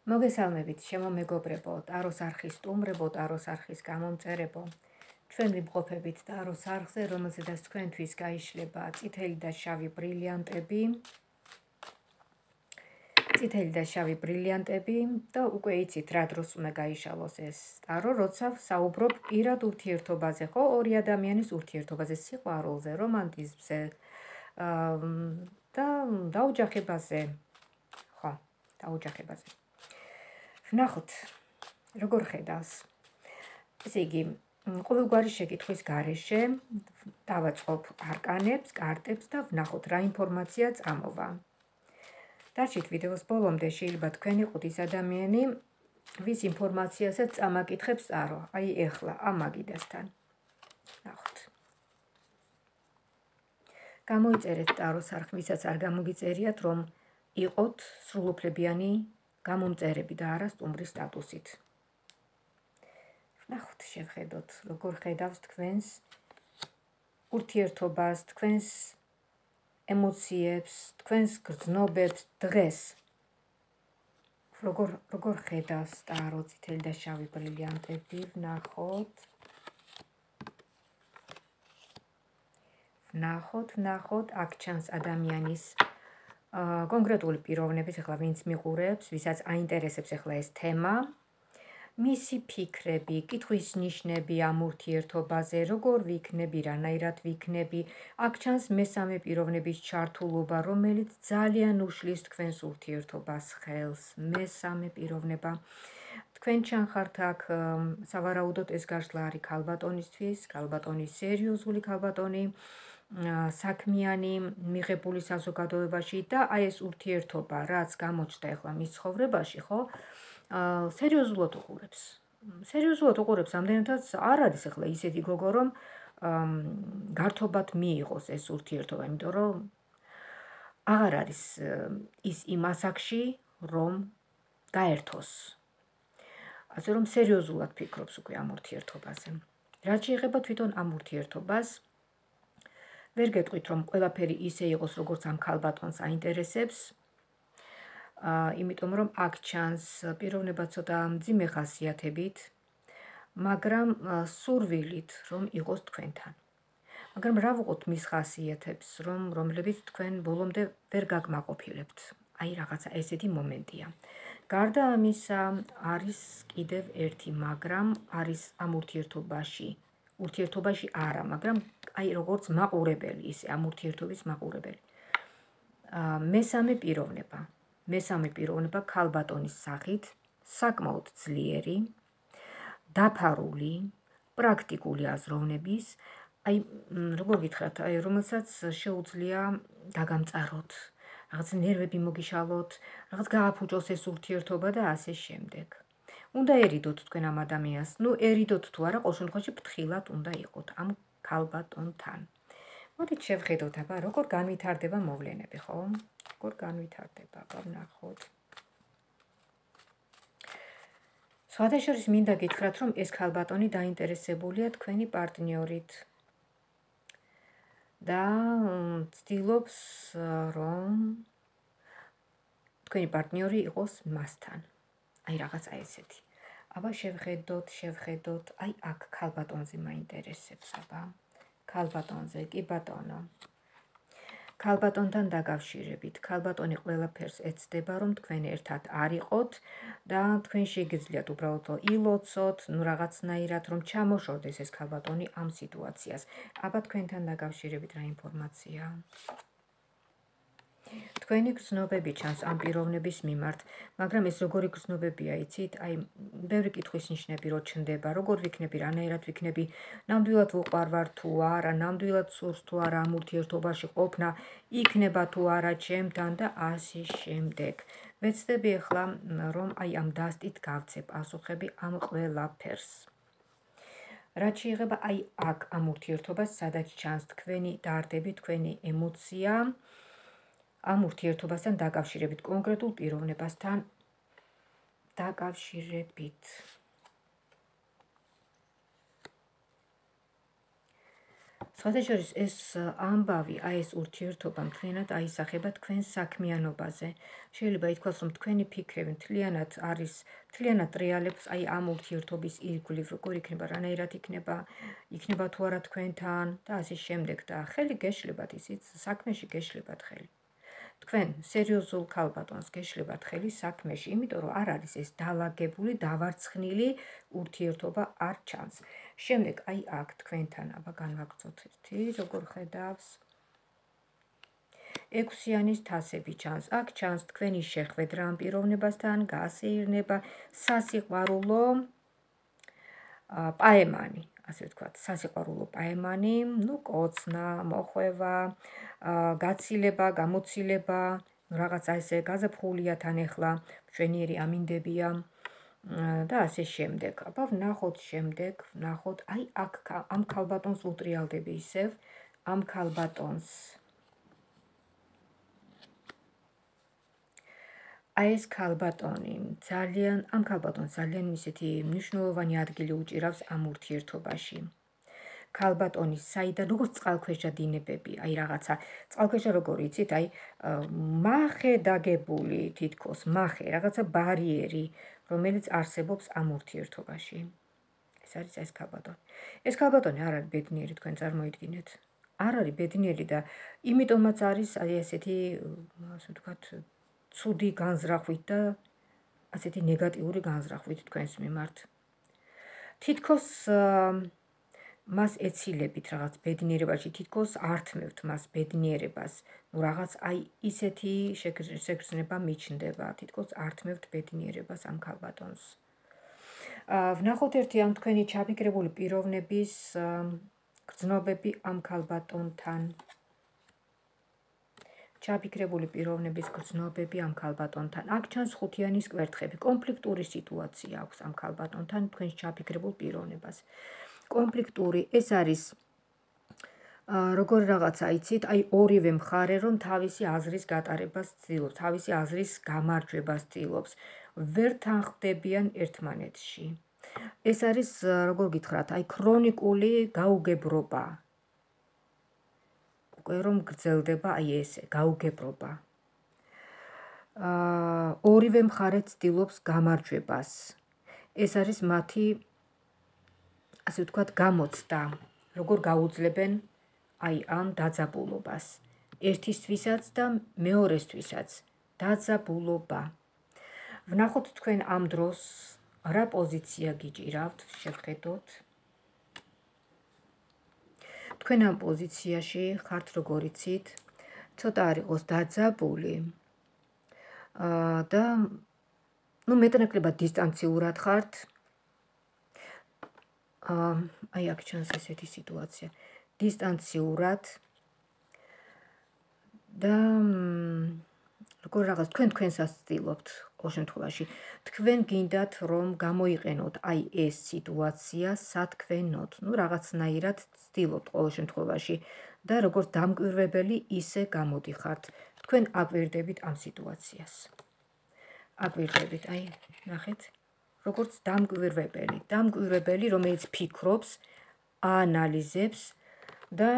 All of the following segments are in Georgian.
მოგესალმებით, ჩემო მეგობრებო, ტაროს არხის სტუმრებო, ტაროს არხის გამომწერებო. ჩვენ ვიმყოფებით ტაროს არხზე, რომელზედაც თქვენთვის გაიშლება წითელი და შავი ბრილიანტები და უკვე იცით რა დროს უნდა გაიშალოს ეს ტარო, როცა საუბრობ პირად ურთიერთობაზე, ხო, ორი ადამიანის ურთიერთობაზე, სიყვარულზე, რომანტიზმზე და დაოჯახებაზე. ხო, დაოჯახებაზე. ვნახოთ, როგორ ხედავს. ესე იგი, ყოველგვარი შეკითხვის გარეშე დავაწყობ არკანებს, კარტებს და ვნახოთ რა ინფორმაცია წამოვა. დარჩით ვიდეოს ბოლომდე, შეიძლება თქვენ იყოთ ის ადამიანი, ვის ინფორმაციასაც წამაკითხებს ტარო, აი ეხლა ამ მაგიდასთან. ვნახოთ. გამოიწერეთ ტაროს არხ, ვისაც არ გამოგიწერიათ, რომ იყოთ სრულუფლებიანი გამომწერები და არა სტუმრის სტატუსით. ვნახოთ, შევხედოთ, როგორ ხედავს თქვენს ურთიერთობას, თქვენს ემოციებს, თქვენს გრძნობებს დღეს. როგორ ხედავს ტარო, წითელი და შავი ბრილიანტები, ვნახოთ, აქ ჩანს ადამიანის კონკრეტული პიროვნების, ახლა ვინც მიყურებს, ვისაც აინტერესებს ახლა ეს თემა, მისი ფიქრები, კითხვის ნიშნები ამ ურთიერთობაზე, როგორ ვიქნები, რანაირად ვიქნები, აქ ჩანს მესამე პიროვნების ჩართულობა, რომელიც ძალიან უშლის თქვენს ურთიერთობას ხელს, მესამე პიროვნება. თქვენ ჩანხართ აქ, სავარაუდოდ ეს გაშლა არის ქალბატონისთვის, ქალბატონი სერიოზული ქალბატონი, საქმიანი, მიღებული საზოგადოებაში და აი ეს ურთიერთობა, რაც გამოჩნდა ახლა მის ცხოვრებაში, ხო? სერიოზულად უყურებს. ამდენადაც არ არის ახლა ისეთი გოგო, რომ გართობად მიიღოს ეს ურთიერთობა, იმიტომ რომ აღარ არის ის იმ ასაკში, რომ გაერთოს. ასე რომ სერიოზულად ფიქრობს უკვე ამ ურთიერთობაზე. რაც შეეხება თვითონ ამ ურთიერთობას, ვერ გეტყვით, რომ ყველაფერი ისე იყოს, როგორც ამ ქალბატონს აინტერესებს, იმიტომ რომ აქ ჩანს პიროვნება ცოტა მძიმე ხასიათებით, მაგრამ სურვილით, რომ იყოს თქვენთან. მაგრამ რა ვუყოთ მის ხასიათებს, რომლებიც თქვენ ბოლომდე ვერ გაგმაყოფილებთ. აი რაღაცა ესეთი მომენტია. გარდა ამისა, არის კიდევ ერთი, მაგრამ არის ამ ურთიერთობაში არა, მაგრამ აი როგორც მაყურებელი, ისე ამ ურთიერთობის მაყურებელი. მესამე პიროვნება ქალბატონის სახით, საკმაოდ ძლიერი, დაფარული, პრაქტიკული აზროვნების, აი როგორ გითხრათ, აი რომელსაც შეუძლია დაგამწაროთ, რაღაც ნერვები მოგიშალოთ, რაღაც გააფუჭოს ეს ურთიერთობა და ასე შემდეგ. უნდა ერიდოთ თქვენ ამ ადამიანს, ერიდოთ თუ არა, ყოველ შემთხვევაში ფრთხილად უნდა იყოთ ამ ქალბატონთან. მოდით შევხედოთ, აბა, როგორ განვითარდება მოვლენები, ხო? როგორ განვითარდება, ვნახოთ. სხვადასხვა მინდა გითხრათ, რომ ეს ქალბატონი დაინტერესებულია თქვენი პარტნიორით და ცდილობს, რომ თქვენი პარტნიორი იყოს მასთან. აი რაღაცა ესეთი. აბა შევხედოთ, აი აქ ქალბატონზე მაინტერესებს, აბა. ქალბატონზე, კი ბატონო. ქალბატონთან დაკავშირებით, ქალბატონი ყველაფერს ეცდება, რომ თქვენ ერთად არ იყოთ და თქვენ შეგიძლიათ უბრალოდ ილოცოთ, რაღაცნაირად, რომ ჩამოშორდეს ეს ქალბატონი ამ სიტუაციას. აბა თქვენთან დაკავშირებით რა ინფორმაცია? თქვენი გრძნობები ჩანს ამ პიროვნების მიმართ, მაგრამ ეს როგორი გრძნობებია, იცით? აი, ბევრი კითხვის ნიშნები რო ჩნდება, როგორ ვიქნები, რანაირად ვიქნები, ნამდვილად ვუყვარვარ თუ არა, ნამდვილად სურს თუ არა ამ ურთიერთობაში ყოფნა, იქნება თუ არა ჩემთან და ასე შემდეგ. ვეცდები ახლა, რომ აი ამ დასტით გავცე პასუხები ამ ყველაფერს. რაც შეეხება აი აქ ამ ურთიერთობას, სადაც ჩანს თქვენი დარდები, თქვენი ემოცია, ამ ურთიერთობასთან დაკავშირებით, კონკრეტულ პიროვნებასთან დაკავშირებით. სხვათა შორის ეს ამბავი, ეს ურთიერთობა მთლიანად აისახება თქვენ საქმიანობაზე. შეიძლება ითქვას, რომ თქვენი ფიქრები მთლიანად ტრიალებს ამ ურთიერთობის ირგვლივ, როგორ იქნება, რანაირად იქნება თუ არა თქვენთან და ასე შემდეგ და ხელი გეშლებათ ისიც საქმეში გეშლებათ ხელი. თქვენ სერიოზულ ქალბატონს გეშლებათ ხელი საქმეში, იმიტომ რომ არ არის ეს დალაგებული, დავარცხნილი ურთიერთობა არ ჩანს. შემდეგ აქ თქვენთან, აბა განვაგრძოთ ერთი, როგორ ხედავს. 6-იანის თასები ჩანს. აქ ჩანს თქვენი შეხვედრა ამ პიროვნებასთან, გასეირნება, სასიყვარულო პაემანი, ასე ვთქვათ, სასიყვარულო პაემანი, კოცნა, მოხვევა, გაცილება, გამოცილება, რაღაცა ესე გაზაფხულია თან ახლა, მშვენიერი ამინდებია და ასე შემდეგ. აბა ვნახოთ შემდეგ, ვნახოთ, აქ ამ ქალბატონს ვუტრიალდები ისევ, ამ ქალბატონს. ეს ქალბატონი ამ ქალბატონს ძალიან ისეთი მნიშვნელოვანი ადგილი უჭირავს ამ ურთიერთობაში. ქალბატონის საიდან როგორც წყალქვეშა დინებები, რაღაცა წყალქვეშა როგორ იცით, მახე დაგებული თითქოს, რაღაცა ბარიერი, რომელიც არსებობს ამ ურთიერთობაში. ეს არის ეს ქალბატონი. ეს ქალბატონი არ არის ბედნიერი, თქვენ წარმოიდგინეთ. არ არის ბედნიერი და იმიტომაც არის ესეთი, ასე ვთქვათ, ცუდი განზრახვით და ასეთი ნეგატიური განზრახვით თქვენს მიმართ. თითქოს მას ეცილებით რაღაც ბედნიერებაში, თითქოს ართმევთ მას ბედნიერებას. რაღაც ისეთი შეგრძნება მიჩნდება, თითქოს ართმევთ ბედნიერებას ამ ქალბატონს. ვნახოთ ერთი ამ თქვენი ჩაფიქრებული პიროვნების გრძნობები ამ ქალბატონთან. ჩაფიქრებული პიროვნების გრძნობები ამ ქალბატონთან. აქ ჩანს 5-იანის კვერთხები. კონფლიქტური სიტუაცია აქვს ამ ქალბატონთან თქვენს ჩაფიქრებულ პიროვნებას. კონფლიქტური, ეს არის როგორ რაღაცა იცით, ორივე მხარე რომ თავისი აზრის გატარებას ცდილობს, თავისი აზრის გამარჯვებას ცდილობს, ვერ თანხმდებიან ერთმანეთში. ეს არის, როგორ გითხრათ, ქრონიკული გაუგებრობა. უკვე რომ გრძელდება ესე, გაუგებრობა. ორივე მხარე ცდილობს გამარჯვებას. ეს არის მათი, ასე ვთქვათ, გამოცდა, როგორ გაუძლებენ ამ დაძაბულობას. ერთისთვისაც და მეორესთვისაც დაძაბულობა. ვნახოთ თქვენ ამ დროს რა პოზიცია გიჭირავთ, შევხედოთ. თქვენ ამ პოზიციაში ხართ, როგორ იცით, ცოტა არ იყოს დაძაბული და მეტნაკლებად დისტანციურად ხართ. აქ ჩანს ესეთი სიტუაცია. დისტანციურად და როგორ რაღაც თქვენსაც ცდილობთ ყოველ შემთხვევაში. თქვენ გინდათ რომ გამოიყენოთ ეს სიტუაცია სათქვენოდ. რაღაცნაირად ცდილობთ ყოველ შემთხვევაში და როგორც დამკვირვებელი ისე გამოდიხართ. თქვენ აკვირდებით ამ სიტუაციას. აკვირდებით, ნახეთ, როგორც დამკვირვებელი, რომელიც ფიქრობს, აანალიზებს და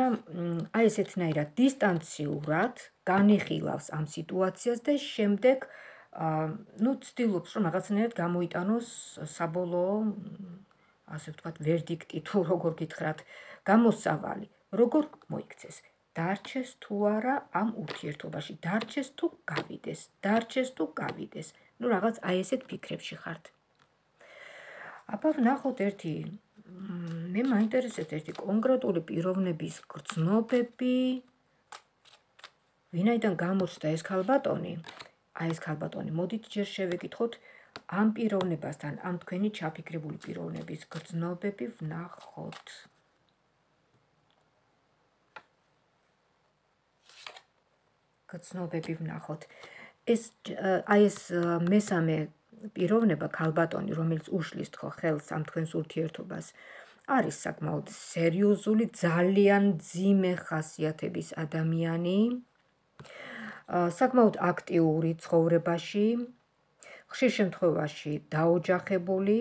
ესეთნაირად დისტანციურად განიხილავს ამ სიტუაციას და შემდეგ ცდილობს რომ რაღაცნაირად გამოიტანოს საბოლოო, ასე ვთქვათ, ვერდიქტი თუ როგორ გითხრათ, გამოსავალი, როგორ მოიქცეს. დარჩეს თუ არა ამ ურთიერთობაში, დარჩეს თუ გავიდეს. რაღაც ესეთ ფიქრებში ხართ. აბა ვნახოთ ერთი, მე მაინტერესებს ერთი კონკრეტული პიროვნების გრძნობები, ვინაიდან გამოჩნდა ეს ქალბატონი. ეს ქალბატონი, მოდით ჯერ შევეკითხოთ ამ პიროვნებასთან, ამ თქვენი ჩაფიქრებული პიროვნების გრძნობები ვნახოთ. ეს მესამე პიროვნება ქალბატონი, რომელიც უშლის თქო ხელს ამ თქვენს ურთიერთობას, არის საკმაოდ სერიოზული, ძალიან მძიმე ხასიათების ადამიანი, საკმაოდ აქტიური ცხოვრებაში, ხშირ შემთხვევაში დაოჯახებული,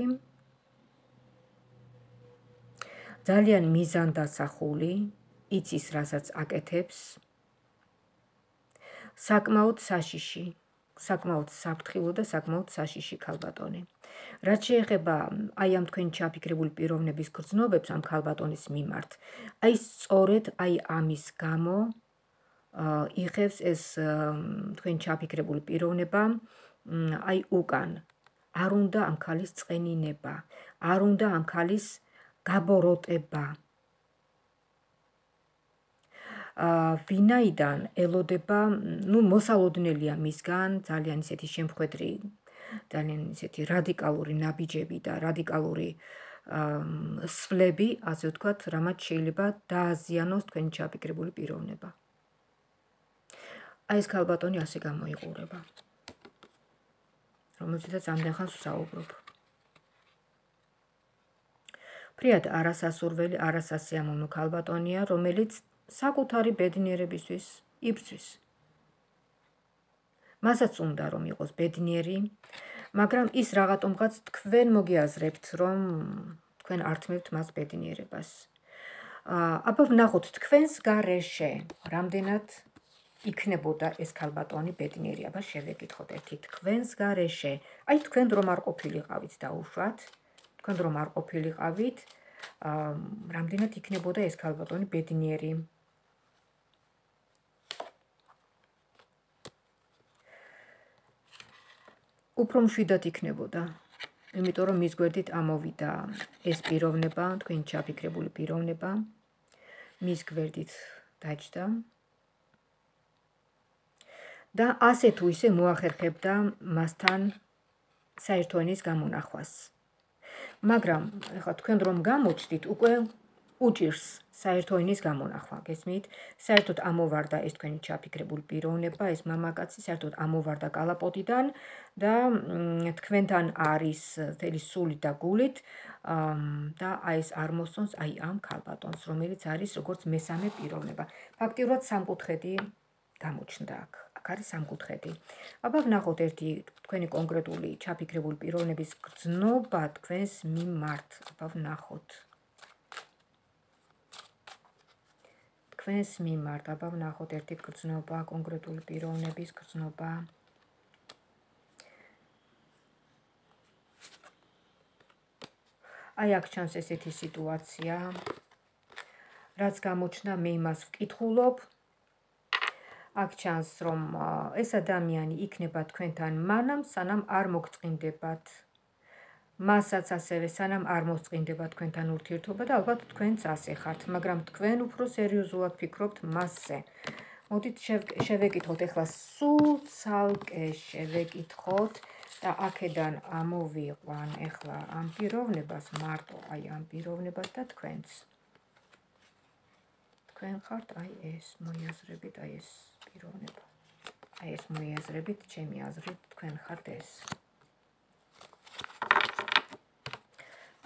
ძალიან მიზანდასახული, იცის, რასაც აკეთებს. საკმაოდ საშიში, საკმაოდ საფრთხილო და საკმაოდ საშიში ქალბატონი. რაც შეეხება აი ამ თქვენი ჩაფიქრებული პიროვნების გრძნობებს ამ ქალბატონის მიმართ, აი სწორედ აი ამის გამო იღებს ეს თქვენი ჩაფიქრებული პიროვნება აი უკან. არ უნდა ამ ქალის წყენინება, არ უნდა ამ ქალის გაბოროტება. ვინაიდან ელოდება, მოსალოდნელია მისგან ძალიან ისეთი შემხედრი, ძალიან ისეთი რადიკალური ნაბიჯები და რადიკალური სვლები, ასე ვთქვათ, რამაც შეიძლება დააზიანოს თქვენი ჩაფიქრებული პიროვნება. აი ეს ქალბატონი ასე გამოიყურება, რომელზეც ამდენ ხანს ვსაუბრობ. ფრიად არასასურველი, არასასიამოვნო ქალბატონია, რომელიც საკუთარი ბედნიერებისთვის იბრძვის. მასაც უნდა რომ იყოს ბედნიერი, მაგრამ ის რაღაცომღაც თქვენ მოგიაზრებთ, რომ თქვენ ართმევთ მას ბედნიერებას. აბა ვნახოთ თქვენს გარეშე, რამდენად იქნებოდა ეს ქალბატონი ბედნიერი. აბა შევეკითხოთ ერთი თქვენს გარეშე. აი თქვენ რომ არ ყოფილიყავით დაუშვათ, თქვენ რომ არ ყოფილიყავით, რამდენად იქნებოდა ეს ქალბატონი ბედნიერი. უფრო მშვიდად იქნებოდა, იმიტომ რომ მის გვერდით ამოვიდა ეს პიროვნება, თქვენი ჩაფიქრებული პიროვნება, მის გვერდით დაჯდა და ასე თუ ისე მოახერხებდა მასთან საერთო ენის გამონახვას. მაგრამ ეხლა თქვენ რომ გამოჩდით, უკვე უჭირს საერთო ენის გამონახვა, გესმით? საერთოდ ამოვარდა ეს თქვენი ჩაფიქრებული პიროვნება, ეს მამაკაცი საერთოდ ამოვარდა კალაპოტიდან და თქვენთან არის მთელი სულით და გულით და აი ეს არ მოსწონს აი ამ ქალბატონს, რომელიც არის როგორც მესამე პიროვნება. ფაქტიურად სამკუთხედი გამოჩნდა აქ. აქ არის სამკუთხედი. აბა ვნახოთ ერთი თქვენი კონკრეტული ჩაფიქრებული პიროვნების გრძნობა თქვენს მიმართ. აბა ვნახოთ. თქვენს მიმართ, აბა ვნახოთ ერთი გრძნობა, კონკრეტული პიროვნების გრძნობა. აი აქ ჩანს ესეთი სიტუაცია, რაც გამოჩნდა, მე იმას ვკითხულობ. აქ ჩანს, რომ ეს ადამიანი იქნება თქვენთან მანამ, სანამ არ მოგწყინდებათ. მასაც ასევე სანამ არ მოსწყინდება თქვენთან ურთიერთობა და ალბათ თქვენც ასე ხართ, მაგრამ თქვენ უფრო სერიოზულად ფიქრობთ მასზე. მოდით შევეკითხოთ ეხლა სულ ცალკე შევეკითხოთ და აქედან ამოვიყვან ეხლა ამ პიროვნებას, მარტო აი ამ პიროვნებას და თქვენც. თქვენ ხართ აი ეს, მოიაზრებით აი ეს პიროვნება. აი ეს მოიაზრებით, ჩემი აზრით, თქვენ ხართ ეს.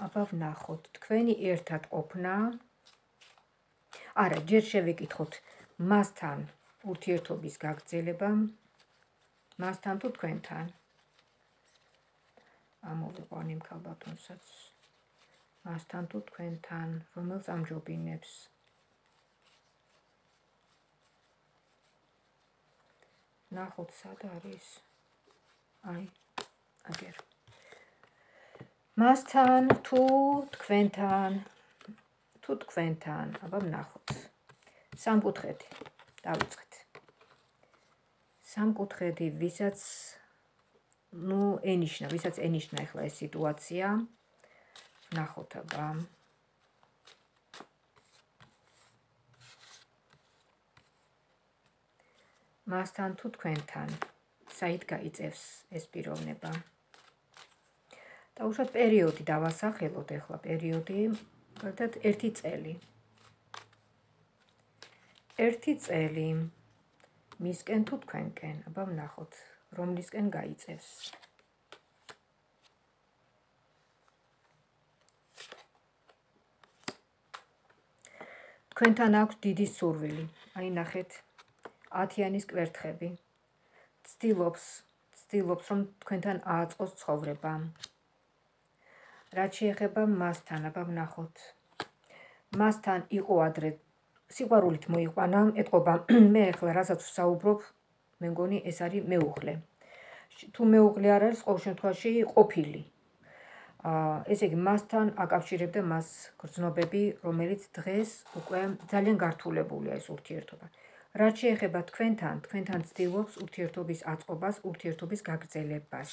აბა ვნახოთ, თქვენი ერთად ყოფნა. არა, ჯერ შევეკითხოთ მასთან ურთიერთობის გაგრძელება, მასთან თუ თქვენთან. ამოვიყვან იმ ქალბატონსაც, მასთან თუ თქვენთან, რომელს ამჯობინებს. ნახოთ, სად არის? აი, აგერ. მასთან თუ თქვენთან, აბა ვნახოთ. სამკუთხედი, დავიწყეთ. სამკუთხედი, ვისაც ენიშნა ეხლა ეს სიტუაცია. ვნახოთ, აბა. მასთან თუ თქვენთან, საით გაიწევს ეს პიროვნება. დაუშვათ პერიოდი დავასახელოთ ეხლა პერიოდი, ერთად 1 წელი. 1 წელი მისკენ თუ თქვენკენ, აბა ვნახოთ, რომლისკენ გაიწევს. თქვენთან აქვს დიდი სურვილი, აი ნახეთ, 10-იანის კვერთხები. ცდილობს, რომ თქვენთან ააწყოს ცხოვრება. რაც შეეხება მასთან, აბა ვნახოთ. მასთან იყო ადრე სიყვარულით მოიყვანა, ეთყობა მე ახლა რასაც ვსაუბრობ, მე მგონი ეს არის მეუღლე. თუ მეუღლე არ არის, ყოველ შემთხვევაში ყოფილი. ესე იგი, მასთან აკავშირებდა მას გრძნობები, რომელიც დღეს უკვე ძალიან გართულებულია ეს ურთიერთობა. რაც შეეხება თქვენთან ცდილობს ურთიერთობის აწყობას, ურთიერთობის გაგრძელებას.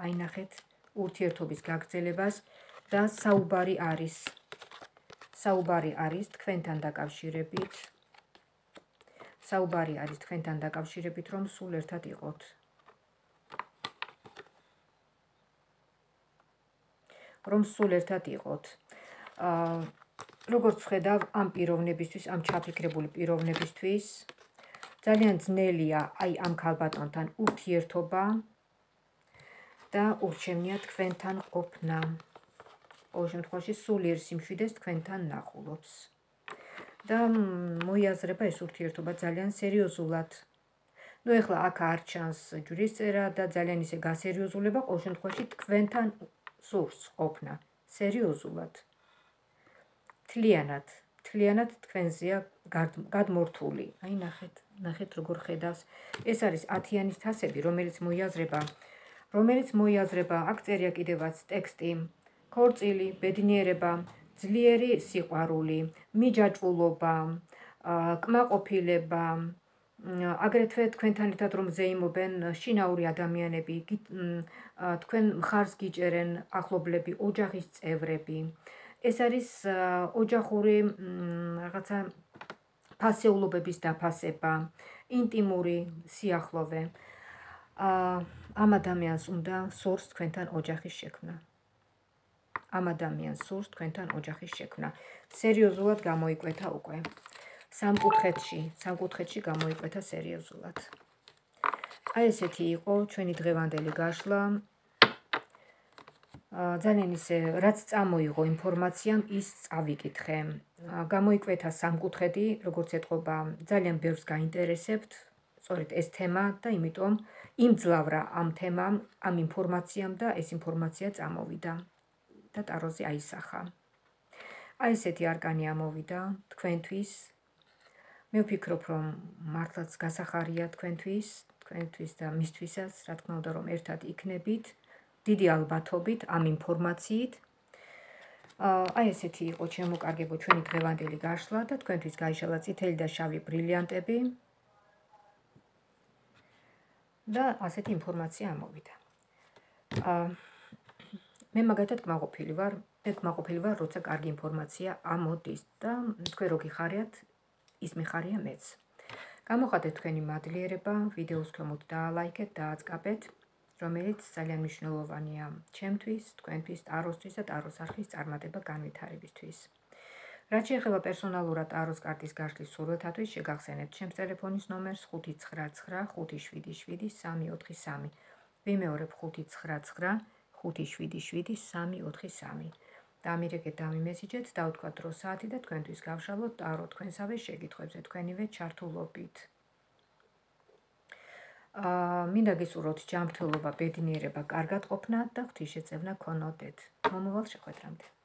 აი ნახეთ, ურთიერთობის გაგრძელებას და საუბარი არის თქვენთან დაკავშირებით. საუბარი არის თქვენთან დაკავშირებით, რომ სულ ერთად იყოთ. როგორც ხედავ, ამ პიროვნებისთვის, ამ ჩაფიქრებული პიროვნებისთვის, ძალიან ძნელია აი ამ ქალბატონთან ურთიერთობა და ურჩევნია თქვენთან ყოფნა. ყოველ შემთხვევაში სულიერ სიმშვიდეს თქვენთან ნახულობს. და მოიაზრება ეს ურთიერთობა ძალიან სერიოზულად. ნუ ეხლა აქ არ ჩანს ჯვრისწერა და ძალიან ისე გასერიოზულება, ყოველ შემთხვევაში თქვენთან სურს ყოფნა. სერიოზულად. თლიანად თქვენზეა გადმორთული. აი ნახეთ როგორ ხედავს. ეს არის 10-იანის თასები, რომელიც მოიაზრება, აქ წერია კიდევაც ტექსტი, ქორწილი, ბედნიერება, ძლიერი სიყვარული, მიჯაჭვულობა, კმაყოფილება, აგრეთვე თქვენთან ერთად რომ ზეიმობენ შინაური ადამიანები, თქვენ მხარს გიჭერენ ახლობლები, ოჯახის წევრები. ეს არის ოჯახური რაღაცა ფასეულობების დაფასება, ინტიმური სიახლოვე. ამ ადამიანს უნდა სურს თქვენთან ოჯახის შექმნა. სერიოზულად გამოიკვეთა უკვე. სამკუთხედში გამოიკვეთა სერიოზულად. აი ესეთი იყო ჩვენი დღევანდელი გაშლა. ძალიან ისე რაც წამოიღო ინფორმაციამ ის წავიკითხე. გამოიკვეთა სამკუთხედი, როგორც ეთყობა, ძალიან ბევრს გაინტერესებთ, სწორედ ეს თემა და იმიტომ იმძლავრა ამ თემამ, ამ ინფორმაციამ და ეს ინფორმაცია წამოვიდა და ტაროზე აისახა. აი ესეთი არკანი ამოვიდა თქვენთვის. მე ვფიქრობ, რომ მართლაც გასახარია თქვენთვის და მისთვისაც, რა თქმა უნდა, რომ ერთად იქნებით, დიდი ალბათობით ამ ინფორმაციით. აი ესეთი იყო ჩემო კარგებო ჩვენი დღევანდელი გაშლა და თქვენთვის გაიშალა წითელი და შავი ბრილიანტები და ასეთი ინფორმაცია ამოვიდა. მე მაგათად კმაყოფილი ვარ, როცა კარგი ინფორმაცია ამოდის და თქვენ რო გიხარიათ, ის მიხარია მეც. გამოხატეთ თქვენი მადლიერება, ვიდეოს ქვემოთ დაალაიქეთ, დააწყაბეთ, რომელიც ძალიან მნიშვნელოვანია ჩემთვის, თქვენთვის, ტაროსთვის და ტაროს არხის წარმატება განვითარებისთვის. რაც შეეხება პერსონალურად ტაროს კარტის გაშლის სურვილთათვის, შეგახსენებთ ჩემს ტელეფონის ნომერს 599577343. ვიმეორებ 599577343. დამირეკეთ, დამიმესიჯეთ, დავთქვათ დრო საათი და თქვენთვის გავშალოთ ტარო თქვენსავე შეკითხვებზე თქვენივე ჩართულობით. მინდა გისურვოთ ჯანმრთელობა, ბედნიერება, კარგად ყოფნა და ღვთისშეწევნა გქონოდეთ. მომავალ შეხვედრამდე.